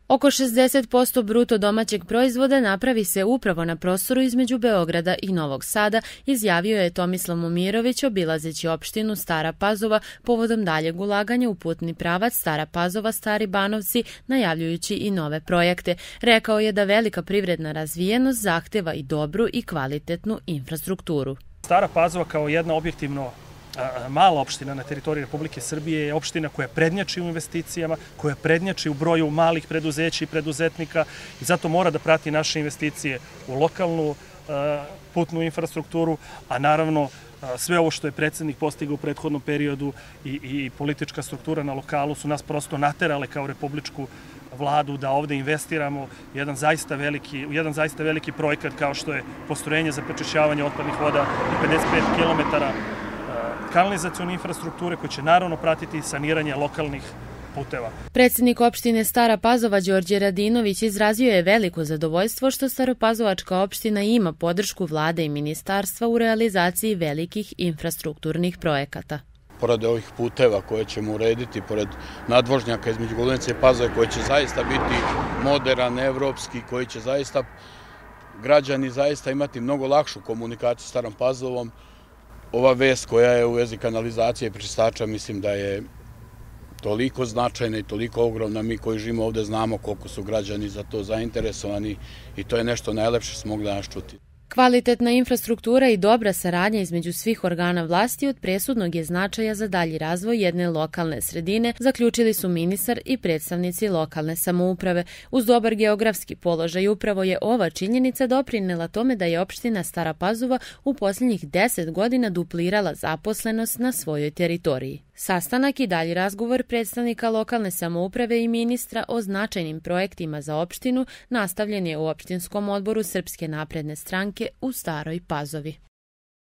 Oko 60% bruto domaćeg proizvoda napravi se upravo na prostoru između Beograda i Novog Sada, izjavio je Tomislav Momirović obilazeći opštinu Stara Pazova povodom daljeg ulaganja u putni pravac Stara Pazova-Stari Banovci, najavljujući i nove projekte. Rekao je da velika privredna razvijenost zahteva i dobru i kvalitetnu infrastrukturu. Stara Pazova kao jedna objektivno mala opština na teritoriji Republike Srbije je opština koja prednjači u investicijama, koja prednjači u broju malih preduzeća i preduzetnika i zato mora da prati naše investicije u lokalnu putnu infrastrukturu, a naravno sve ovo što je predsjednik postigao u prethodnom periodu i politička struktura na lokalu su nas prosto naterale kao republičku vladu da ovde investiramo u jedan zaista veliki projekat kao što je postrojenje za prečišćavanje otpadnih voda i 55 km kanalizacione infrastrukture koje će naravno pratiti saniranje lokalnih puteva. Predsjednik opštine Stara Pazova Đorđe Radinović izrazio je veliko zadovoljstvo što Staropazovačka opština ima podršku vlade i ministarstva u realizaciji velikih infrastrukturnih projekata. Pored ovih puteva koje ćemo urediti, pored nadvožnjaka između Golenice i Pazove koji će zaista biti moderan, evropski, koji će zaista građani zaista imati mnogo lakšu komunikaciju s Starom Pazovom, ova vest koja je u vezi kanalizacije i prečistača mislim da je toliko značajna i toliko ogromna. Mi koji živimo ovde znamo koliko su građani za to zainteresovani i to je nešto najlepše što smo mogli danas čuti. Kvalitetna infrastruktura i dobra saradnja između svih organa vlasti od presudnog je značaja za dalji razvoj jedne lokalne sredine, zaključili su ministar i predstavnici lokalne samouprave. Uz dobar geografski položaj upravo je ova činjenica doprinela tome da je opština Stara Pazova u posljednjih 10 godina duplirala zaposlenost na svojoj teritoriji. Sastanak i dalji razgovor predstavnika lokalne samouprave i ministra o značajnim projektima za opštinu nastavljen je u opštinskom odboru Srpske napredne stranke u Staroj Pazovi.